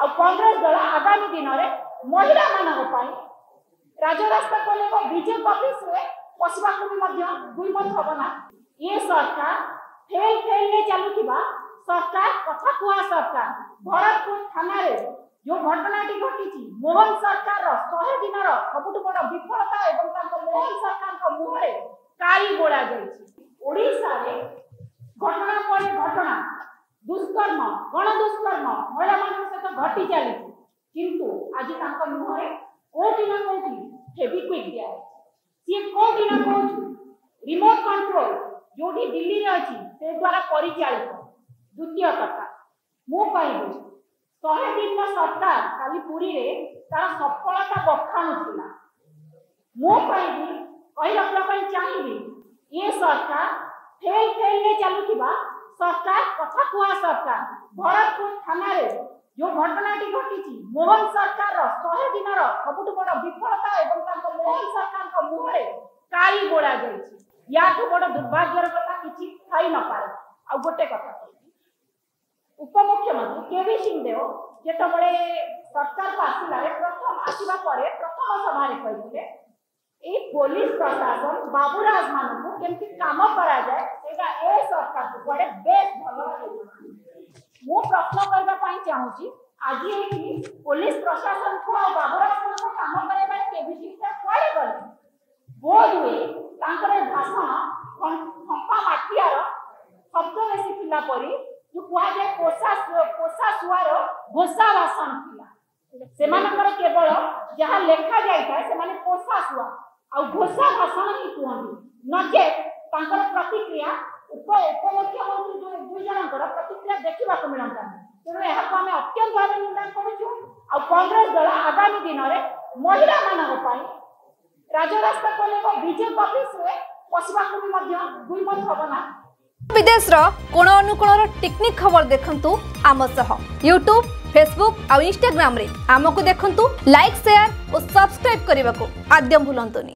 ଆଉ କଂଗ୍ରେସ ଦଳ ଆଗାମୀ ଦିନରେ ମହିଳାମାନଙ୍କ ପାଇଁ ରାଜରାସ୍ତାକୁ ଓହ୍ଲେଇବ। ବିଜେପି ଅଫିସରେ ପଶିବାକୁ ବି ମଧ୍ୟ ଦୁଇମତ ହବ ନା। ଏ ସରକାର ଫେଲ ଫେଲରେ ଚାଲୁଥିବା ସରକାର, କଥା କୁହା ସରକାର। ଭରତପୁର ଥାନାରେ ଯୋଉ ଘଟଣାଟି ଘଟିଛି, ମୋହନ ସରକାରର 100 ଦିନର ସବୁଠୁ ବଡ ବିଫଳତା ଏବଂ ତାଙ୍କ ମୋହନ ସରକାରଙ୍କ ମୁହଁରେ କାଳି ବୋଳା ଯାଇଛି। ଓଡ଼ିଶାରେ ଘଟଣା ପରେ ଘଟଣା, ଦୁଷ୍କର୍ମ, ଗଣଦୁଷ୍କର୍ମ ମହିଳାମାନଙ୍କ ସହିତ ଘଟି ଚାଲିଛି, କିନ୍ତୁ ଆଜି ତାଙ୍କ ମୁହଁରେ କୋଉଠି ନା କୋଉଠି ଫେବିକ୍ୱିକ୍ ଦିଆଯାଇଛି। ସିଏ କୋଉଠି ନା କୋଉଠି ରିମୋଟ କଣ୍ଟ୍ରୋଲ ଯୋଉଠି ଦିଲ୍ଲୀରେ ଅଛି, ସେ ଦ୍ୱାରା ପରିଚାଳିତ। ଦ୍ୱିତୀୟ କଥା ମୁଁ କହିବି, 100 ଦିନର ସରକାର କାଲି ପୁରୀରେ ତାର ସଫଳତା ବଖାଣୁଥିଲା। ମୁଁ କହିବି, କହି ରଖିବା ପାଇଁ ଚାହିଁବି, ଏ ସରକାର ଫେଲ ଫେଲରେ ଚାଲୁଥିବା ସରକାର, କଥା କୁହା ସରକାର। ଭରତପୁର ଥାନାରେ ଯୋଉ ଘଟଣାଟି ଘଟିଛି, ମୋହନ ସରକାରର 100 ଦିନର ସବୁଠୁ ବଡ ବିଫଳତା ଏବଂ ତାଙ୍କ ମୋହନ ସରକାରଙ୍କ ମୁହଁରେ କାଳି ବୋଳା ଯାଇଛି। ୟାଠୁ ବଡ ଦୁର୍ଭାଗ୍ୟର କଥା କିଛି ଥାଇ ନପାରେ। ଆଉ ଗୋଟେ କଥା କହିବି, ଉପମୁଖ୍ୟମନ୍ତ୍ରୀ କେ ଭି ସିଂଦେଓ ଯେତେବେଳେ ସରକାରକୁ ଆସିଲାରେ ପ୍ରଥମ ଆସିବା ପରେ ପ୍ରଥମ ସଭାରେ କହିଥିଲେ, ଏଇ ପୋଲିସ ପ୍ରଶାସନ ବାବୁରାଜ ମାନଙ୍କୁ କେମିତି କାମ କରାଯାଏ, ସେଇଟା ଏ ସରକାରକୁ କୁଆଡେ ବେଶ ଭଲ ଭାବେ ଜଣା। ମୁଁ ପ୍ରଶ୍ନ କରିବା ପାଇଁ ଚାହୁଁଛି, ଆଜି ଏଇଠି ପୋଲିସ ପ୍ରଶାସନକୁ ଆଉ ବାବୁରାଜ ମାନଙ୍କୁ କାମ କରାଇବାରେ କେ ଭି ସିଂଦେଓ କୁଆଡେ ଗଲେ? ବୋଧ ହୁଏ ତାଙ୍କର ଏ ଭାଷଣ ଫମ୍ପା ମାଠିଆର ଶବ୍ଦ ବେଶୀ ଥିଲା ପରି, ଯୋଉ କୁହାଯାଏ ପୋଷା ଶୁଆର ଘୋଷା ଭାଷଣ ଥିଲା। ସେମାନଙ୍କର କେବଳ ଯାହା ଲେଖା ଯାଇଥାଏ, ସେମାନେ ପୋଷା ଶୁଆ ଆଉ ଘୋଷା ଭାଷଣ ହିଁ କୁହନ୍ତି। ନଚେତ୍ ତାଙ୍କର ପ୍ରତିକ୍ରିୟା, ଉପମୁଖ୍ୟମନ୍ତ୍ରୀ ଦୁଇ ଜଣଙ୍କର ପ୍ରତିକ୍ରିୟା ଦେଖିବାକୁ ମିଳନ୍ତାନି। ତେଣୁ ଏହାକୁ ଆମେ ଅତ୍ୟନ୍ତ ଭାବେ ନିନ୍ଦା କରୁଛୁ। ଆଉ କଂଗ୍ରେସ ଦଳ ଆଗାମୀ ଦିନରେ ମହିଳାମାନଙ୍କ ପାଇଁ ରାଜରାସ୍ତାକୁ ଓହ୍ଲେଇବ। ବିଜେପି ଅଫିସରେ ପଶିବାକୁ ବି ମଧ୍ୟ ଦୁଇମତ ହବ ନା। ବିଦେଶର କୋଣ ଅନୁକୋଣର ଟିକ୍ନିକ୍ ଖବର ଦେଖନ୍ତୁ ଆମ ସହ। ୟୁଟ୍ୟୁବ୍, ଫେସବୁକ୍ ଆଉ ଇନଷ୍ଟାଗ୍ରାମରେ ଆମକୁ ଦେଖନ୍ତୁ। ଲାଇକ୍, ସେୟାର ଓ ସବସ୍କ୍ରାଇବ୍ କରିବାକୁ ଆଦ୍ୟ ଭୁଲନ୍ତୁନି।